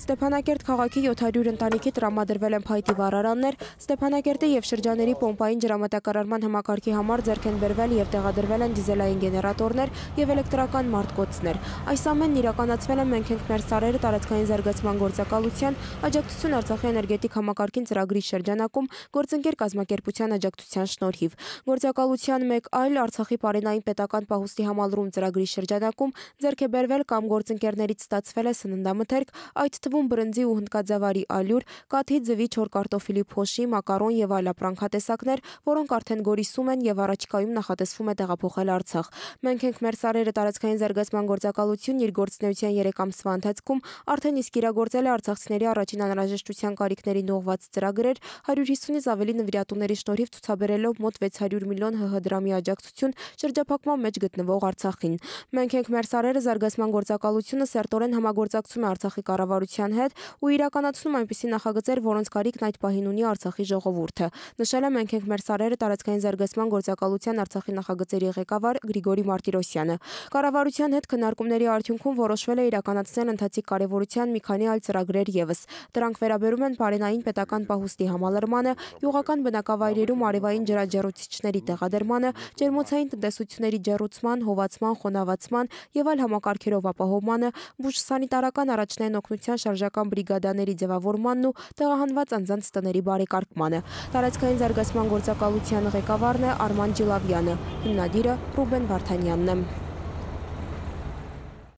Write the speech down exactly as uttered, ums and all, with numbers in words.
Ստեփանակերտ քաղաքի յոթ հարյուր ընտանիքի տրամադրվել են փայտի վառարաններ, Ստեփանակերտի եւ շրջաների պոմպային ջրամատակարարման համակարգի համար ձեռք են բերվել եւ տեղադրվել են դիզելային գեներատորներ եւ էլեկտրական մարտկոցներ։ Այս ամենն իրականացվել է «Մենք ենք մեր սարերը» տարածքային զարգացման գործակալության աջակցություն Արցախի էներգետիկ համակարգին ծրագրի շրջանակում գործընկեր կազմակերպության աջակցության շնորհիվ։ Գործակալության մեկ այլ Արցախի պարենային պետական պահուստի համալրում ծրագրի շրջանակում ձեռք է բերվել կամ գործընկերներից ստացվել է սննդամթերք, այդ թվում բրնձի ու հնդկաձավարի ալյուր, կաթի, ձվի, չոր կարտոֆիլի փոշի, մակարոն եւ այլ ապրանքատեսակներ, որոնք արդեն գորիսում են եւ առաջիկայում նախատեսվում է տեղափոխել Արցախ։ «Մենք ենք մեր սարերը» տարածքային զարգացման գործակալությունն իր գործունեության երեք ամսվա ընթացքում արդեն իսկ իրագործել է արցախցիների առաջին անհրաժեշտության կարիքներին ուղղված ծրագրեր, հարյուր հիսունից ավելի նվիրատուների շնորհիվ ցուցաբերելով մոտ վեց հարյուր միլիոն ՀՀ դրամի աջակցություն շրջափակման մեջ գտնվող Արցախին։ «Մենք ենք մեր սարերը» զարգացման գործակալությունը սերտորեն համագործակցում է Արցախի կառավարության հետ ու իրականացնում այնպիսի նախագծեր, որոնց կարիքն այդ պահին ունի Արցախի ժողովուրդը, նշել է «Մենք ենք մեր սարերը» տարածքային զարգացման գործակալության Արցախի նախագծերի ղեկավար Գրիգորի Մարտիրոսյանը։ Կառավարության հետ քննարկումների արդյունքում որոշվել է իրականացնել ընթացիկ կարևորության մի քանի այլ ծրագրեր ևս։ Դրանք վերաբերում են պարենային պետական պահուստի համալրմանը, յուղական բնակավայրերում արևային ջրաջեռուցիչների տեղադրմանը, ջերմոցային տնտեսությունների ջեռուցման, հովացման, խոնավացման եւ այլ համակարգերով ապահովմանը, բուժսանիտարական առաջնային օգնության շարժական բրիգադաների ձևավորմանն ու տեղահանված անձանց տների բարեկարգմանը։ Տարածքային զարգացման գործակալության ղեկավարն է Արման Ջիլավյանը, հիմնադիրը Ռուբեն Վարդանյանն է։